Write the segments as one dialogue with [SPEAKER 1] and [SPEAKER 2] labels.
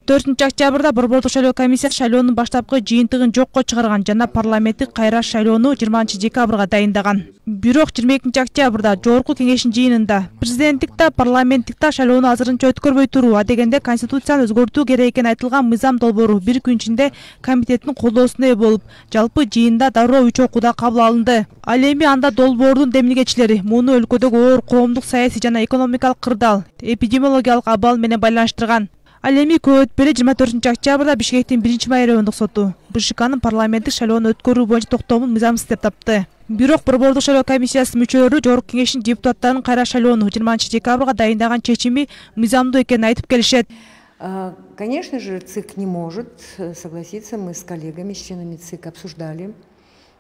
[SPEAKER 1] 4-октябрда Борбордук шайлоо комиссиясы шайлоонун баштапкы жыйынтыгын жокко чыгарган жана парламенттик кайра шайлоону 20-декабрга дайындаган. Бирок 22-октябрда жогорку кеңештин жыйынында президенттик да парламенттик да шайлоону азырынча өткөрбөй туруу, адегенде конституцияны өзгөртүү керек экени айтылган мыйзам долбоору бир күн ичинде комитеттин колдоосуна ээ болуп, жалпы жыйында дароо 3 окууда кабыл алынды. Ал эми анда долбоордун демилгечилери муну өлкөдөгү оор коомдук, саясий жана экономикалык кырдаал, эпидемиологиялык абал менен байланыштырган. Ал эми көп өтпөй 24-октябрда Бишкектин 1-май райондук соту БШКнын парламенттик шайлоону өткөрүү боюнча токтоомун мыйзамсыз деп тапты. Бирок Борбордук шайлоо комиссиясынын мүчөлөрү жогорку кеңештин депутаттарынын кайра шайлоону 20-декабрга дайындаган чечими мыйзамдуу экенин айтып келишет.
[SPEAKER 2] Конечно же, ЦИК не может согласиться. Мы с коллегами, с членами ЦИК обсуждали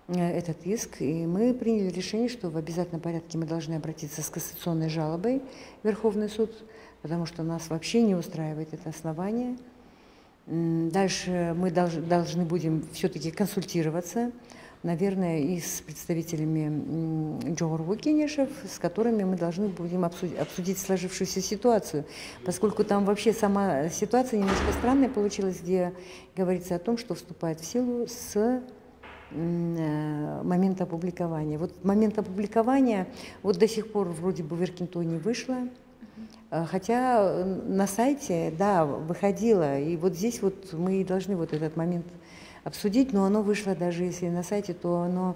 [SPEAKER 2] этот иск, и мы приняли решение, что в обязательном порядке мы должны обратиться с кассационной жалобой в Верховный суд, потому что нас вообще не устраивает это основание. Дальше мы должны будем все-таки консультироваться, наверное, и с представителями Жогорку Кенешев, с которыми мы должны будем обсудить сложившуюся ситуацию, поскольку там вообще сама ситуация немножко странная получилась, где говорится о том, что вступает в силу с момента опубликования. Вот момент опубликования вот до сих пор вроде бы в Иркинто не вышло, хотя на сайте, да, выходило, и вот здесь вот мы должны вот этот момент обсудить, но оно вышло, даже если на сайте, то оно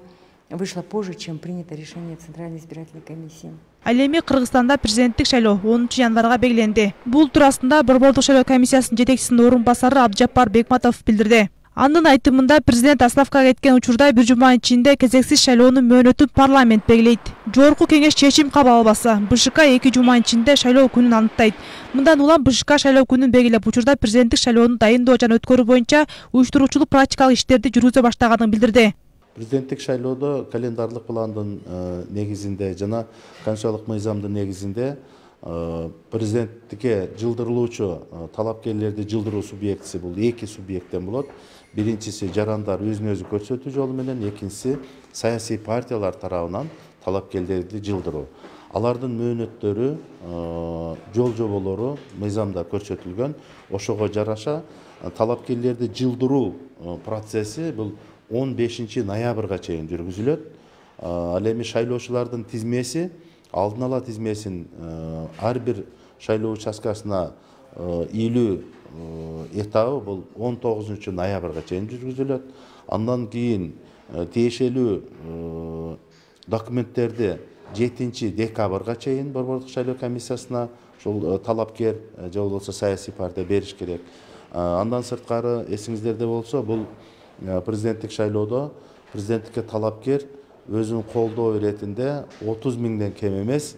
[SPEAKER 2] вышло позже, чем принято решение Центральной избирательной комиссии.
[SPEAKER 1] Ал эми Кыргызстанда президенттик шайлоо 10 январга белгиленди. Бул туурасында Борбордук шайлоо комиссиясынын жетекчисинин орун басары Абджапар Бекматов билдирди. Анын айтымында президент отставкага кеткен учурда 1 жума ичинде кезексиз шайлоонун мөөнөтүн парламент белгилейт. Жогорку кеңеш чечим кабыл албаса, БШК 2 жума ичинде шайлоо күнүн аныктайт. Мындан улам БШК шайлоо күнүн белгилеп, учурда президенттик шайлоону дайындоо жана өткөрүү боюнча уюштуруучулук практикалык иштерди жүргүзө баштаганын билдирди.
[SPEAKER 3] Президенттик шайлоодо календарлык пландын негизинде жана конституциялык мыйзамдын негизинде президенттикке жылдырылуучу талапкерлерди жылдыруу субъектиси бул 2 субъекттен болот. Биринчиси жарандар өзүн өзү көрсөтүү жолу менен, экинчиси саясий партиялар тарабынан талапкерлерди жылдыруу. Алардын мөөнөттөрү, жол жоболору мыйзамда көрсөтүлгөн. Ошого жараша талапкерлерди жылдыруу процесси бул 15 ноябрга чейин жүргүзүлөт. Ал эми шайлоочулардын тизмеси, алдын ала тизмесин ар бир шайлоо участкасына ийилүү этабы бул 19 ноябрга чейин жүргүзүлөт. Андан кийин тиешелүү документтерди 7 декабрга чейин Борбордук шайлоо комиссиясына ошол талапкер же болбосо саясий партия бериш керек. Андан сырткары эсиңиздерде болсо, бул президенттик шайлоодо президенттикке талапкер өзүнүн колдоо иретинде 30 миңден кем эмес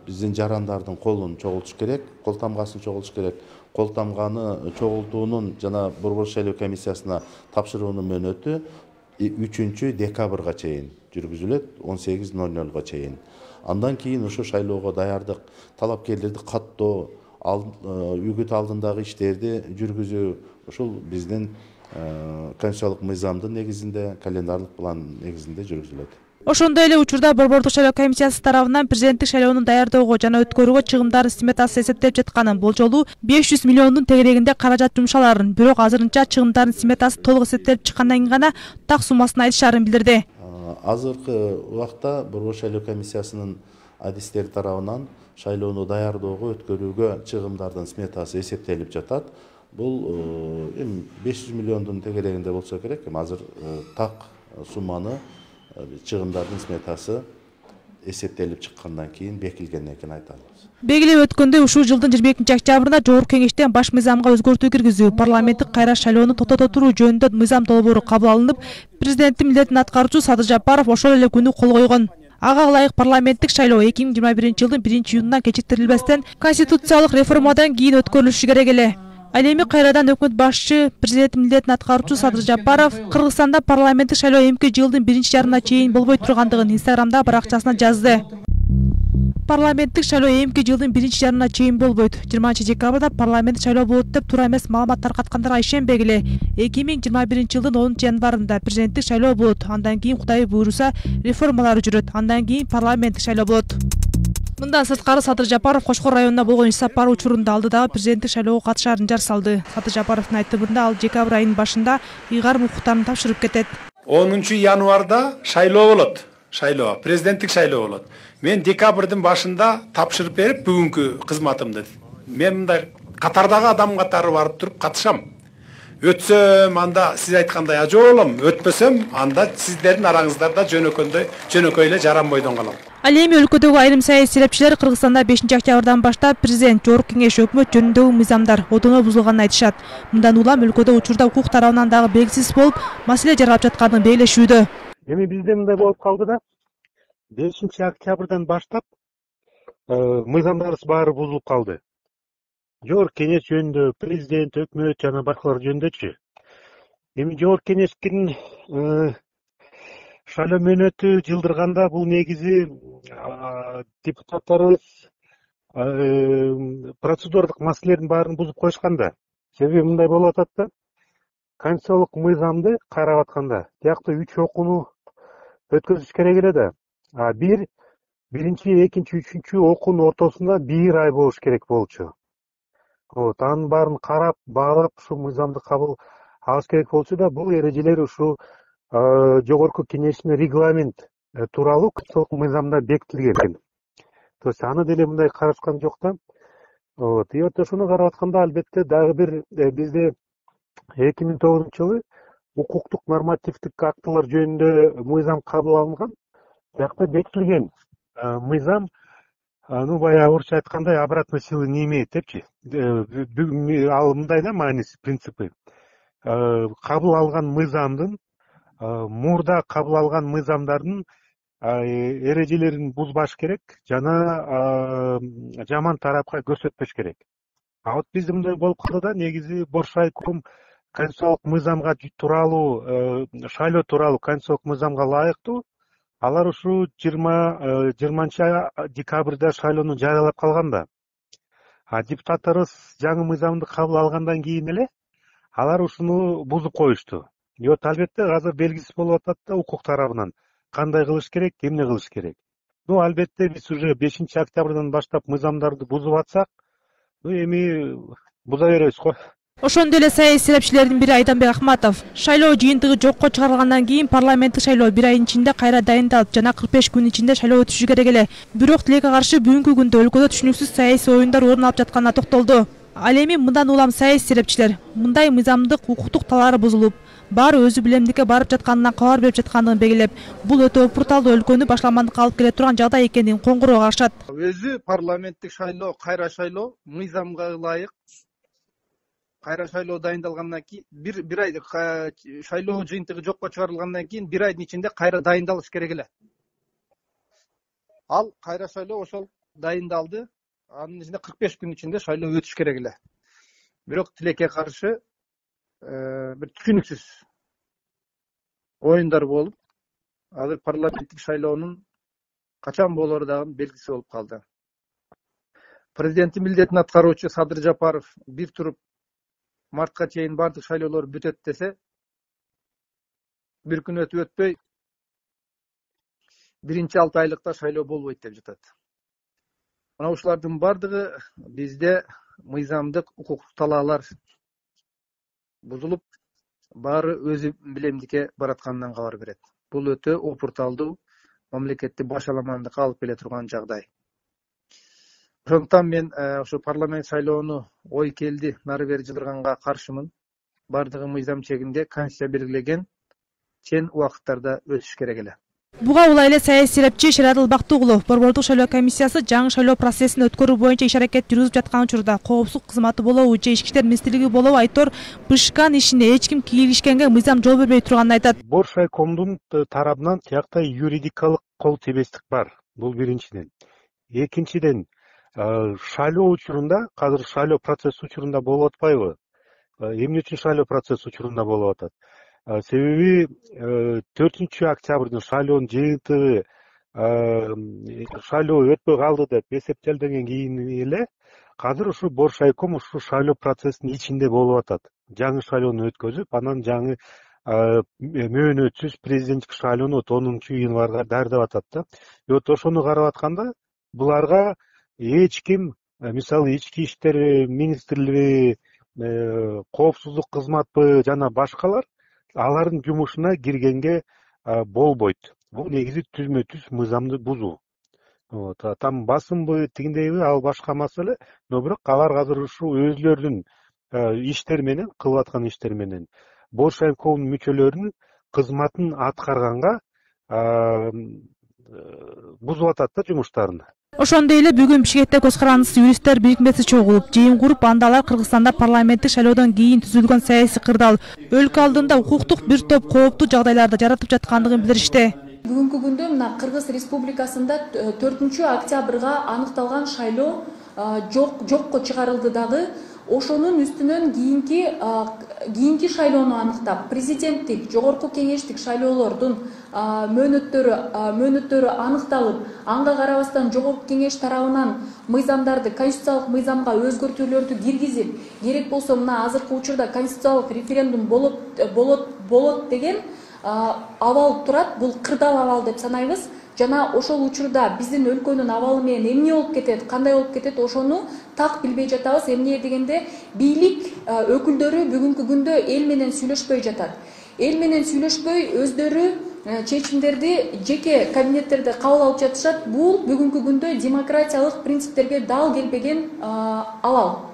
[SPEAKER 3] биздин жарандардын колун чогултуш керек, кол тамгасын чогултуш керек. Кол тамганы чогултуунун жана Борбордук шайлоо комиссиясына тапшыруунун мөөнөтү 3 декабрга чейин жүргүзүлөт, 18:00 чейин. Андан кийин ошо шайлоого даярдык, талапкерлерди каттоо, үгүт алдындагы иштерди жүргүзүү ушул биздин конституциялык мыйзамдын негизинде, календарлык план негизинде жүргүзүлөт.
[SPEAKER 1] Ошондой эле учурда Борбордук шайлоо комиссиясы тарабынан президенттик шайлоону даярдоого жана өткөрүүгө чыгымдардын сметасы эсептелип жатканын, болжолу 500 миллиондун тегерегинде каражат жумшаларын, бирок азырынча чыгымдардын сметасы толук эсептелип чыккандан кийин гана так суммасын айтышарын билдирди.
[SPEAKER 3] Азыркы убакта Борбордук шайлоо комиссиясынын адистери тарабынан шайлоону даярдоого, өткөрүүгө чыгымдардын сметасы эсептелип жатат. Бул 500 миллиондун тегерегинде болсо керек, азыр так сумманы чыгымдардын сметасы эсептелип чыккандан кийин бекилгенден кийин айта алабыз.
[SPEAKER 1] Белгилеп өткөндөй, ушул жылдын 22-октябрында жогорку кеңештен баш мыйзамга өзгөртүү киргизүү, парламенттик кайра шайлоону токтото туруу жөнүндө мыйзам долбоору кабыл алынып, президенттин милдетин аткаруучу Садыр Жапаров ошол эле күнү кол койгон. Ага ылайык парламенттик шайлоо 2021-жылдын 1-июнунан кечиктирилбестен конституциялык реформадан кийин өткөрүлүшү керек эле. Ал эми кайрадан өкмөт башчы, президенттин милдетин аткаруучу Садыр Жапаров Кыргызстанда парламенттик шайлоо эмки жылдын 1-жарымына чейин болбой тургандыгын Инстаграмда баракчасына жазды. Парламенттик шайлоо эмки жылдын 1-жарымына чейин болбойт. 20-декабрда парламенттик шайлоо болот деп туура эмес маалымат таркаткандарга ишенбегиле. 2021-жылдын 10 январында президенттик шайлоо болот. Андан кийин Кудай буйруса реформалар жүрөт. Андан кийин парламенттик шайлоо болот. Мындан сырткары Садыр Жапаров Кошкор районуна болгон иш сапары учурунда алдыдагы президенттик шайлоого катышаарын жар салды. Садыр Жапаровдун айтымында ал декабрь айынын башында ыйгарым укуктарын тапшырып кетет.
[SPEAKER 4] 10 январда шайлоо болот. Президенттик шайлоо болот. Мен декабрдын башында тапшырып берип бүгүнкү кызматымды. Мен мындай катардагы адам катары барып туруп катышам. Өтсөм анда сиз айткандай ажоолом, өтпөсөм анда сиздердин араңыздарда жөнөкөй эле жаранбойдон калам.
[SPEAKER 1] Ал эми өлкөдөгү айрым саясий серепчилер Кыргызстанда 5-октябрдан баштап президент, жогорку кеңеш, өкмөт жөнүндөгү мыйзамдар одоно бузулганын айтышат. Мындан улам өлкөдө учурда укук тарабынан дагы белгисиз болуп, маселе жаралып жатканын белгилешүүдө.
[SPEAKER 5] Эми бизде мындай болуп калды да, 5-октябрдан баштап мыйзамдарыбыз баары бузулуп калды. Жогорку кеңеш жөнүндө, президент, өкмөт жана башкалар жөнүндөчү. Эми жогорку кеңештин шайлоо мөөнөтү жылдырганда бул негизи депутаттарыбыз процедурдук маселелердин баарын бузуп коюшкан да. Себеби мындай болуп атат да, конституциялык мыйзамды карап атканда тиякта 3 окууну өткөзүш керек эле да. Биринчи, экинчи, үчүнчү окуунун ортосунда 1 ай болуш керек болчу. Анын баарын карап, баалап, ушу мыйзамды кабыл алыш керек болчу да, бул эрежелер ушу жогорку кеңештин регламент тууралуу конституциялык мыйзамда бекитилген. То есть аны деле мындай карашкан жок да. И ошону карап атканда албетте дагы бир бизде 2009-жылы укуктук нормативдик актылар жөнүндө мыйзам кабыл алынган. Биякта бекитилген мыйзам, баягы орусча айткандай, обратной силы не имеет депчи. Ал мындай да мааниси, принципи. Кабыл алган мыйзамдын, мурда кабыл алган мыйзамдардын эрежелерин бузбаш керек жана жаман тарапка көрсөтпөш керек. Вот бизде мындай болуп калды да, негизи Боршайком конституциялык мыйзамга тууралуу, шайлоо тууралуу конституциялык мыйзамга ылайыктуу, алар ушу 20-декабрда шайлоону жарыялап калган да. Депутаттарыбыз жаңы мыйзамды кабыл алгандан кийин эле алар ушуну бузуп коюшту. Албетте азыр белгисиз болуп атат да укук тарабынан кандай кылыш керек, эмне кылыш керек. Албетте биз уже 5-октябрдан баштап мыйзамдарды бузуп атсак, эми буза беребиз го.
[SPEAKER 1] Ошондой эле саясий серепчилердин бири Айданбек Акматов шайлоо жыйынтыгы жокко чыгарылгандан кийин парламенттик шайлоо 1 айдын ичинде кайра дайындалып жана 45 күн ичинде шайлоо өтүшү керек эле. Бирок тилекке каршы бүгүнкү күндө өлкөдө түшүнүксүз саясий оюндар орун алып жатканына токтолду. Ал эми мындан улам саясий серепчилер мындай мыйзамдык укуктук талаары бузулуп, баары өзү билемдикке барып жатканынан кабар берип жаткандыгын белгилеп, бул өтө бруталдуу өлкөнү башламандыкка алып келе турган жагдай экендигин коңгуроо кагышат.
[SPEAKER 6] Өзү парламенттик шайлоо, кайра шайлоо мыйзамга ылайык кайра шайлоо дайындалгандан кийин бир ай шайлоо жыйынтыгы жокко чыгарылгандан кийин 1 айдын ичинде кайра дайындалыш керек эле. Ал кайра шайлоо ошол дайындалды. Анын ичинде 45 күн ичинде шайлоо өтүш керек эле. Бирок тилекке каршы бир түшүнүксүз оюндар болуп, азыр парламенттик шайлоонун качан болору дагы белгисиз болуп калды. Президенттин милдетин аткаруучу Садыр Жапаров бир туруп мартка чейин бардык шайлоолор бүтөт десе, бир күн өтүп өтпөй биринчи 6 айлыкта шайлоо болбойт деп жатат. Мына ушулардын бардыгы бизде мыйзамдык укуктук талаалар бузулуп, баары өзү билемдикке баратканынан кабар берет. Бул өтө опурталдуу, мамлекетти башаламандыкка алып келе турган жагдай. Ошондуктан мен ошо парламент шайлоону ой келди нары бери жылдырганга каршымын. Бардыгы мыйзам чегинде конституция белгилеген чен убакыттарда өтүш керек эле.
[SPEAKER 1] Буга улай эле саясий серепчи Шерадыл Бактыгулов борбордук шайлоо комиссиясы жаңы шайлоо процессин өткөрүү боюнча иш-аракет жүргүзүп жаткан учурда коопсуздук кызматы болобу же ички иштер министрлиги болобу Айтор Бышкан ишине эч ким кийлигишкенге мыйзам жол бербей турганын айтат.
[SPEAKER 5] Боршайкомдун тарабынан тиякта юридикалык кол тебестик бар. Бул биринчиден. Экинчиден, шайлоо учурунда, азыр шайлоо процесс учурунда болуп атпайбы? Эмне үчүн шайлоо процесс учурунда болуп атат? Себеби 4-октябрдын шайлоонун жыйынтыгы шайлоо өтпөй калды деп эсептелден кийин эле азыр ушу Боршайком ушу шайлоо процессинин ичинде болуп атат. Жаңы шайлоону өткөзүп, анан жаңы мөөнөтсүз президенттик шайлоону 10 январга даярдап атат да. Ошону карап атканда буларга эч ким, мисалы ички иштер министрлиги, коопсуздук кызматпы жана башкалар алардын жумушуна киргенге болбойт. Бул негизи түзмө түз мыйзамды бузуу. Там басымбы тигиндейби ал башка маселе, но бирок алар азыр ушу өзлөрүнүн иштер менен, кылып аткан иштер менен Боршайкомдун мүчөлөрүнүн кызматын аткарганга бузуп атат да жумуштарын.
[SPEAKER 1] Ошондой эле бүгүн Бишкекте көз карандысыз юристтер бирикмеси чогулуп, жыйын куруп, анда алар Кыргызстанда парламенттик шайлоодон кийин түзүлгөн саясий кырдаал өлкө алдында укуктук бир топ кооптуу жагдайларды жаратып жаткандыгын билдиришти.
[SPEAKER 7] Бүгүнкү күндө мына Кыргыз Республикасында 4 октябрга аныкталган шайлоо жокко чыгарылды дагы. Ошонун үстүнөн кийинки шайлоону аныктап, президенттик, жогорку кеңештик шайлоолордун мөөнөттөрү аныкталып, анга карабастан жогорку кеңеш тарабынан мыйзамдарды, конституциялык мыйзамга өзгөртүүлөрдү киргизип, керек болсо мына азыркы учурда конституциялык референдум болот деген абал турат. Бул кырдаал абал деп санайбыз. Жана ошол учурда биздин өлкөнүн абалы менен эмне болуп кетет, кандай болуп кетет, ошону так билбей жатабыз. Эмне дегенде, бийлик өкүлдөрү бүгүнкү күндө эл менен сүйлөшпөй жатат. Эл менен сүйлөшпөй өздөрү чечимдерди жеке кабинеттерде кабыл алып жатышат. Бул бүгүнкү күндө демократиялык принциптерге дал келбеген абал.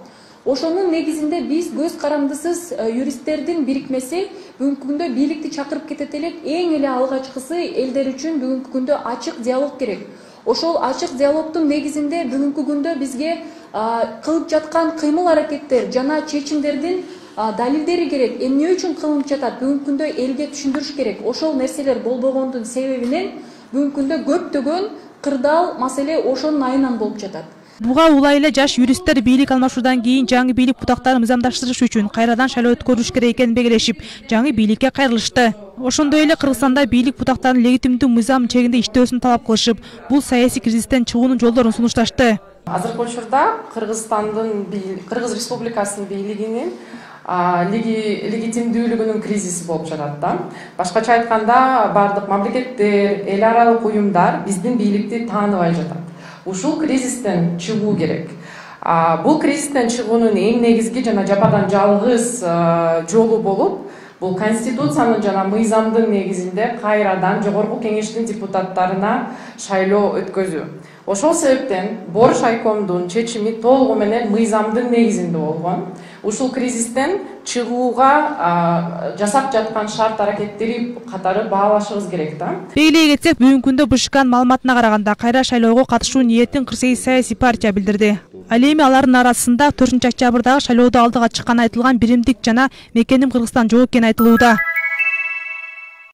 [SPEAKER 7] Ошонун негизинде биз көз карандысыз юристтердин бирикмеси бүгүнкү күндө бийликти чакырып кетет элек. Эң эле алгачкысы элдер үчүн бүгүнкү күндө ачык диалог керек. Ошол ачык диалогдун негизинде бүгүнкү күндө бизге кылып жаткан кыймыл аракеттер жана чечимдердин далилдери керек. Эмне үчүн кылынып жатат, бүгүнкү күндө элге түшүндүрүш керек. Ошол нерселер болбогондун себебинен бүгүнкү күндө көптөгөн кырдаал маселе ошонун айынан болуп жатат.
[SPEAKER 1] Буга улай эле жаш юристтер бийлик алмашуудан кийин жаңы бийлик бутактарын мыйзамдаштырыш үчүн кайрадан шайлоо өткөрүлүш керек экенин белгилешип, жаңы бийликке кайрылышты. Ошондой эле Кыргызстанда бийлик бутактарынын легитимдүү мыйзам чегинде иштөөсүн талап кылышып, бул саясий кризистен чыгуунун жолдорун сунушташты.
[SPEAKER 8] Азыркы учурда Кыргыз Республикасынын бийлигинин легитимдүүлүгүнүн кризиси болуп жатат да. Башкача айтканда, бардык мамлекеттер, эл аралык уюмдар биздин бийликти тааныбай жатат. Ушул кризистен чыгуу керек. Бул кризистен чыгуунун эң негизги жана жападан жалгыз жолу болуп, бул конституциянын жана мыйзамдын негизинде кайрадан жогорку кеңештин депутаттарына шайлоо өткөзүү. Ошол себептен Боршайкомдун чечими толугу менен мыйзамдын негизинде болгон. Ушул кризистен чыгууга жасап жаткан шарт аракеттери катары баалашыбыз керек да.
[SPEAKER 1] Белгилей кетсек, бүгүнкү күндө БШКнын маалыматына караганда кайра шайлоого катышуу ниетин 48 саясий партия билдирди. Ал эми алардын арасында 4 октябрдагы шайлоодо алдыга чыкканы айтылган Биримдик жана Мекеним Кыргызстан жок экени айтылууда.